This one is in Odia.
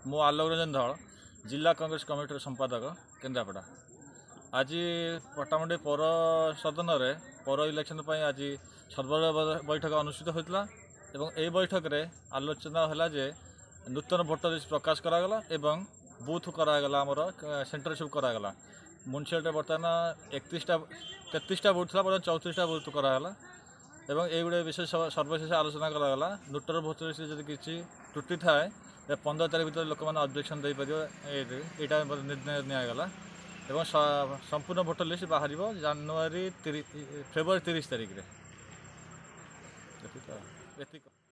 ମୁଁ ଆଲୋକ ରଞ୍ଜନ ଧଳ, ଜିଲ୍ଲା କଂଗ୍ରେସ କମିଟିର ସମ୍ପାଦକ, କେନ୍ଦ୍ରାପଡ଼ା। ଆଜି ପଟ୍ଟାମୁଣ୍ଡାଇ ପୌର ସଦନରେ ପୌର ଇଲେକ୍ସନ୍ ପାଇଁ ଆଜି ସର୍ବଦଳୀୟ ବୈଠକ ଅନୁଷ୍ଠିତ ହୋଇଥିଲା ଏବଂ ଏହି ବୈଠକରେ ଆଲୋଚନା ହେଲା ଯେ ନୂତନ ଭୋଟର ଲିଷ୍ଟ ପ୍ରକାଶ କରାଗଲା ଏବଂ ବୁଥ୍ କରାଗଲା, ଆମର ସେଣ୍ଟର ସବୁ କରାଗଲା। ମ୍ୟୁନିସିପାଲିଟିରେ ବର୍ତ୍ତମାନ 31ଟା, 33ଟା ବୁଥ୍ ଥିଲା, ବର୍ତ୍ତମାନ 34ଟା ବୁଥ୍ କରାଗଲା ଏବଂ ଏଇଗୁଡ଼ିଏ ବିଷୟ ସର୍ବଶେଷ ଆଲୋଚନା କରାଗଲା। ନୂତନ ଭୋଟର ଲିଷ୍ଟରେ ଯଦି କିଛି ତ୍ରୁଟି ଥାଏ, 15 ତାରିଖ ଭିତରେ ଲୋକମାନେ ଅବଜେକ୍ସନ୍ ଦେଇପାରିବେ, ଏଇଟା ନିର୍ଣ୍ଣୟ ନିଆଗଲା ଏବଂ ସମ୍ପୂର୍ଣ୍ଣ ଭୋଟର ଲିଷ୍ଟ ବାହାରିବ ଜାନୁଆରୀ 30, ଫେବୃଆରୀ 30 ତାରିଖରେ। ଏତିକି।